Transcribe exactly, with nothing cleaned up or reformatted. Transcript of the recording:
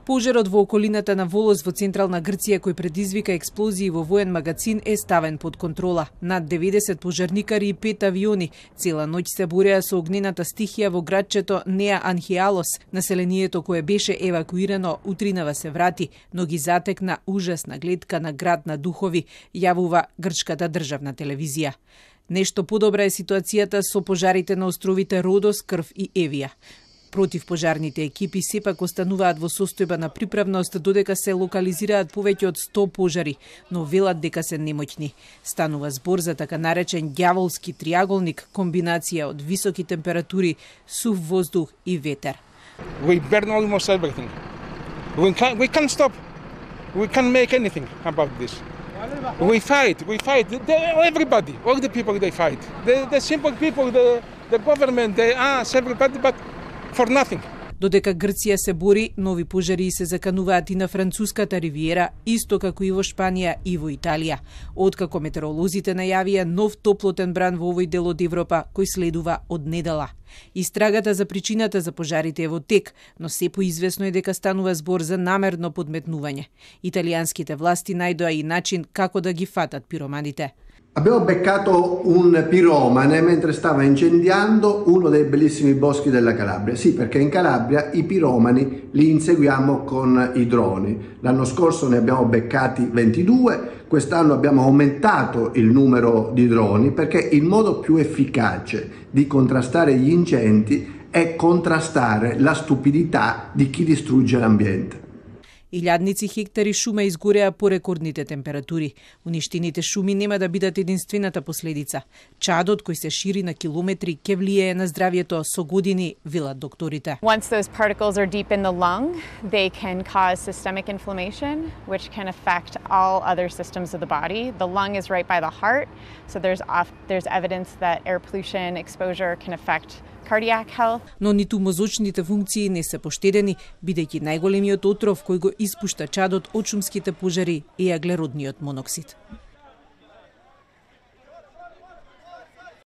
Пожарот во околината на Волос во централна Грција, кој предизвика експлозии во воен магазин, е ставен под контрола. Над деветдесет пожарникари и пет авиони цела ноќ се бореа со огнената стихија во градчето Неа Анхиалос. Населението кое беше евакуирано утринава се врати, но ги затекна ужасна гледка на град на духови, јавува грчката државна телевизија. Нешто подобра е ситуацијата со пожарите на островите Родос, Крв и Евија. Противпожарните екипи сепак остануваат во состојба на приправност додека се локализираат повеќе од сто пожари, но велат дека се немоќни. Станува збор за така наречен ѓаволски триаголник, комбинација од високи температури, сув воздух и ветер. We burn almost everything. We can't, we can't stop. We can't make anything about this. We fight, we fight. They, everybody, all the people they fight. The, the simple people, the, the government, they ask everybody, but for nothing. Додека Грција се бори, нови пожари се закануваат и на француската ривиера, исто како и во Шпанија и во Италија. Откако метеоролозите најавија нов топлотен бран во овој дел од Европа, кој следува од недела. Истрагата за причината за пожарите е во тек, но се поизвестно е дека станува збор за намерно подметнување. Италијанските власти најдоа и начин како да ги фатат пироманите. Abbiamo beccato un piromane mentre stava incendiando uno dei bellissimi boschi della Calabria. Sì, perché in Calabria i piromani li inseguiamo con i droni. L'anno scorso ne abbiamo beccati ventidue, quest'anno abbiamo aumentato il numero di droni perché il modo più efficace di contrastare gli incendi è contrastare la stupidità di chi distrugge l'ambiente. Илјадници хектари шума изгореа по рекордните температури. Уништените шуми нема да бидат единствената последица. Чадот кој се шири на километри ќе влијае на здравјето со години, велат докторите. Once those particles are deep in the lung, they can cause systemic inflammation, which can affect all other systems of the body. The lung is right by the heart, so there's off, there's evidence that air pollution exposure can affect cardiac health. Но ниту мозочните функции не се поштедени, бидејќи најголемиот отров кој го испушта чадот од шумските пожари е аглеродниот моноксид.